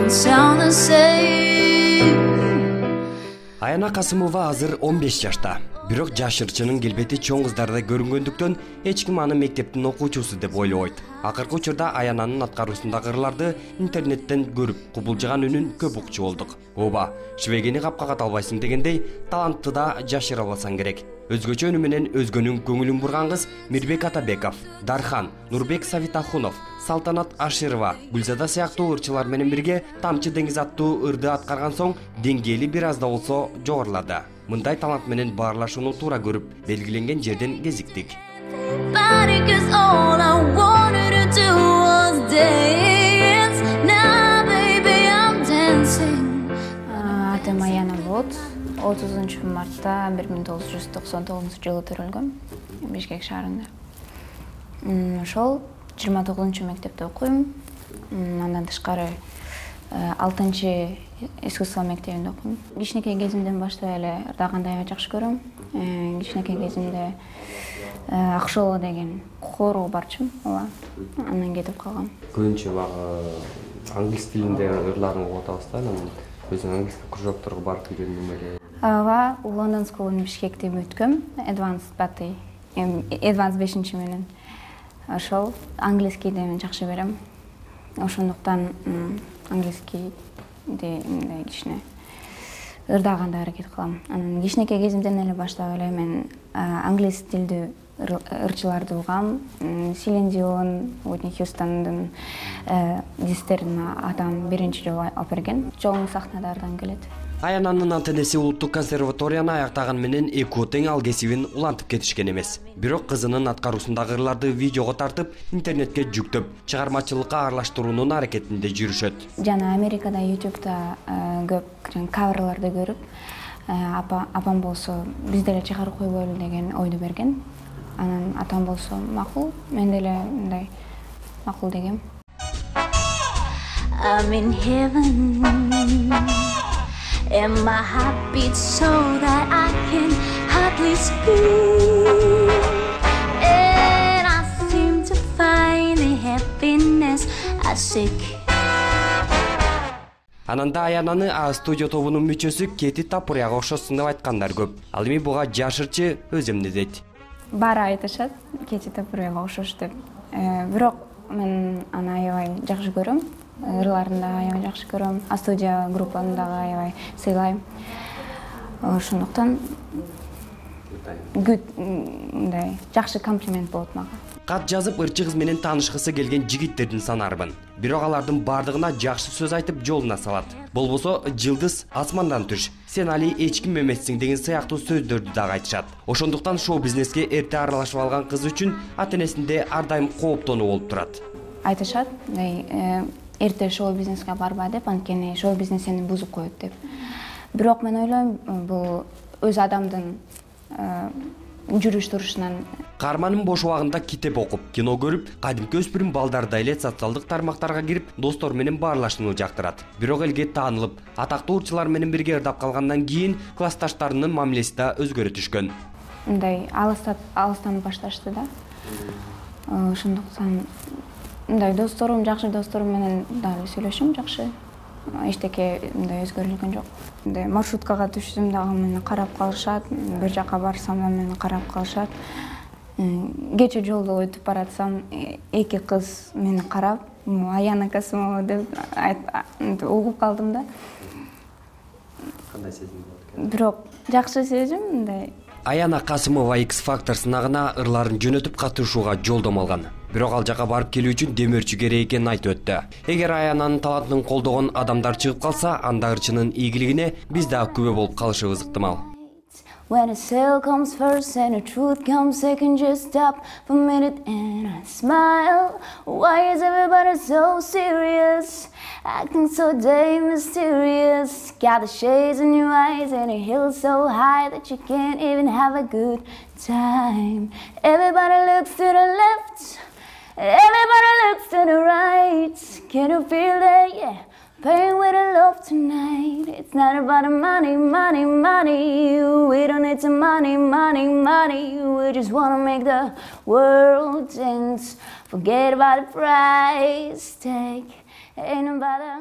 don't sound the same. Аяна Касымова азыр 15 жашта. Бирок жашырчынын келбети чоң кыздарда көрүнгөндүктөн эч ким аны мектептин окуучусу деп ойлойт. Акыркы учурда Аянанын аткаруусундагы ырларды интернеттен көрүп, кубулжыган үнүн көп укчу болдук. Ооба, шыбегени капка ката албайсың дегендей, талантты да жашыра алсаң керек. Өзгөчө үнү менен өзгөнүн көңүлүн бурган кыз Мирбек Атабеков, Дархан, Нурбек Савитахунов, Салтанат Аширова, Гүлзада сыяктуу ырчылар менен бирге Тамчы деңиз аттуу ырды аткарган соң деңгээли бир аз да болсо жогорулады. Мындай талант менен баарлашууну туура көрүп, белгиленген жерден кезиктик. Атым Аяна болот. 30 мартта 1999-жылы төрөлгөм Бишкек шаарында. Ошол 29 мектепте окуйм. Андан тышкары 6 искусство мектебинде окуйм. Кичинекей кезимден баштап эле ырдаганды аябай жакшы көрөм. Кичинекей кезимде Акшооло деген хорго барчумун, ооба. Андан кетип калгам. Көбүнчө багы англис тилинде ырларын угуп атабыз да, анан өзүң англис кружокторго барып үйрөндүң беле? Ооба, Лондон School Бишкекте өткөм, Advanced 5 менен. Ошол английскийди мен жакшы берем. Ошондуктан английскийди мындай кичине ырдаганды аракет кылам. Анан кичинекей кезимден эле баштап эле мен англис тилдүү ырчыларды угам. Селин Дион, Уитни Хьюстондун дистерин атам биринчи жолу алып берген. Чоң сахналардан келет. Аянанын ата-энеси улуттук консерваторияны аяктаган менен экөө тең ал кесибин улантып кетишкен эмес. Бирок кызынын аткаруусундагы ырларды видеого тартып, интернетке жүктөп, чыгармачылыкка аралаштыруунун аракетинде жүрүшөт. Жана Америкада, YouTube'да көп каверларды көрүп, апам болсо биз деле чыгарып койбойлу деген ойду берген. Анан атам болсо макул, мен деле мындай макул дегем. I'm in heaven, and my heart beats so that I can hardly speak, and I seem to find the happiness I seek. Ананда Аянаны А-студио тобунун мүчөсү Кети Тапуряга окшосуң деп айткандар көп. Ал эми буга жашырчы өз эмнедейт. Баары айтышат, Кети Тапуряга окшош деп. Бирок мен аны аябай жакшы көрөм. Ырларын да аябай жакшы көрөм. А-студио группаны дагы аябай сыйлайм. Ошондуктан мындай жакшы комплимент болот мага. Кат жазып ырчы кыз менен таанышкысы келген жигиттердин санарбын. Бирок алардын бардыгына жакшы сөз айтып жолуна салат. Болбосо жылдыз асмандан түш, сен али эч ким эмессиң деген сыяктуу сөздөрдү дагы айтышат. Ошондуктан шоу бизнеске эрте аралашып алган кыз үчүн ата-энесинде ар дайым кооптонуу болуп турат. Айтышат, эрте шоу бизнеске барба деп, анткени шоу бизнес сени бузуп коет деп. Бирок мен ойлойм, бул өз адамдын жүрүш турушунан. Каарманын бош убагында китеп окуп, кино көрүп, кадимки өспүрүм балдарда эле социалдык тармактарга кирип, достор менен баарлашууну жактырат. Бирок элге таанылып, атактуу урчулар менен бирге ырдап калгандан кийин классташтарынын мамилеси да өзгөрө түшкөн. Мындай алыстан башташты да. Ошондуктан мындай досторум, жакшы досторум менен дагы сүйлөшөм жакшы. Эчтеке мындай өзгөрүлгөн жок. Маршруткага түшсөм дагы мени карап калышат, бир жака барсам да мени карап калышат. Кече жолдо өтүп баратсам, эки кыз мени карап, Аяна Касымова деп угуп калдым да. Кандай сезим болот экен? Бирок жакшы сезим мындай. Аяна Касымова X-Factor сынагына ырларын жөнөтүп катышууга жолдомо алган. Бирок ал жака барып келүү үчүн демөөрчү керек экенин айтып өттү. Эгер Аянанын талантын колдогон адамдар чыгып калса, анда ырчынын ийгилигине биз дагы күбө болуп калышыбыз ыктымал. When a sale comes first and the truth comes second, just stop for a minute and I smile. Why is everybody so serious, acting so damn mysterious? Got the shades in your eyes and a hill so high that you can't even have a good time. Everybody looks to the left, everybody looks to the right. Can you feel that? Yeah. Playing with the love tonight. It's not about the money, money, money. We don't need some money, money, money. We just wanna make the world dance. Forget about the price tag. Ain't about the